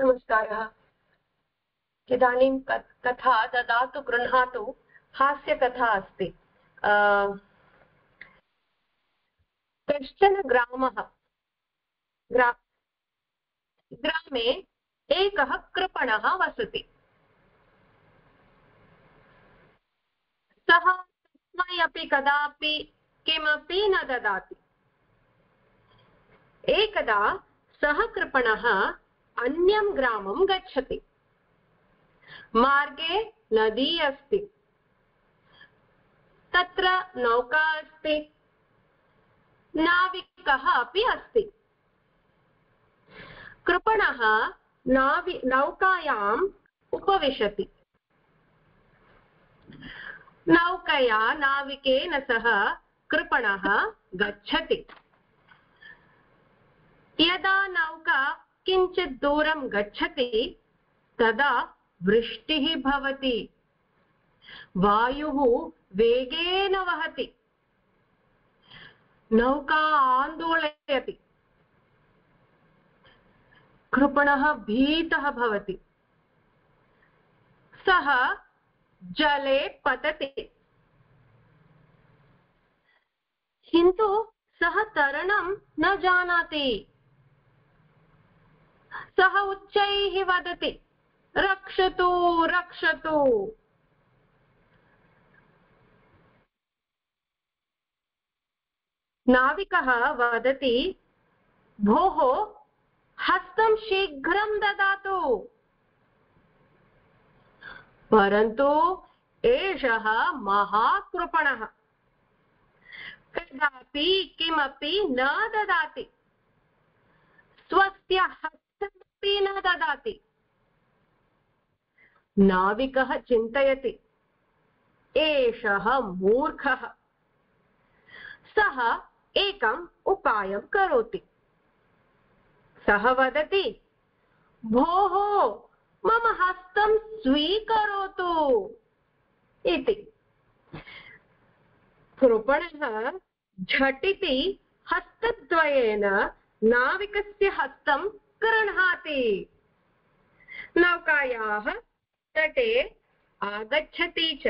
नमस्कारः। इदानीं कथा ददातु गृह्णातु हास्यकथा अस्ति। कश्चन ग्रामे एकः कृपणः वसति। सः तस्मै अपि कदापि किमपि न ददाति। एकदा सः कृपणः अन्यं ग्रामं गच्छति। मार्गे नदी अस्ति, तत्र नौका अस्ति, नाविकः अपि अस्ति। कृपणः नौकायाम् उपविशति। नौकया नाविकेन सह कृपणः गच्छति। यदा नौका किञ्चित् दूरं गच्छति तदा वृष्टिः भवति। वायुः वेगेन वहति। नौका आन्दोलयति। कृपणः भीतः भवति। सः जले पतति। किन्तु सः तरणं न जानाति। सः उच्चैः वदति, रक्षतु रक्षतु। नाविकः वदति, भोः हस्तं शीघ्रं ददातु। परन्तु एषः महाकृपणः कदापि किमपि न ददाति। स्वस्य हस्तमपि न ददाति। नाविकः चिन्तयति, एषः मूर्खः। सः एकम् उपायं करोति। सः वदति, भोः मम हस्तं स्वीकरोतु इति। कृपणः झटिति हस्तद्वयेन नाविकस्य हस्तं गृह्णाति। नौकायाः तटे आगच्छति च।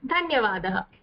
धन्यवादः।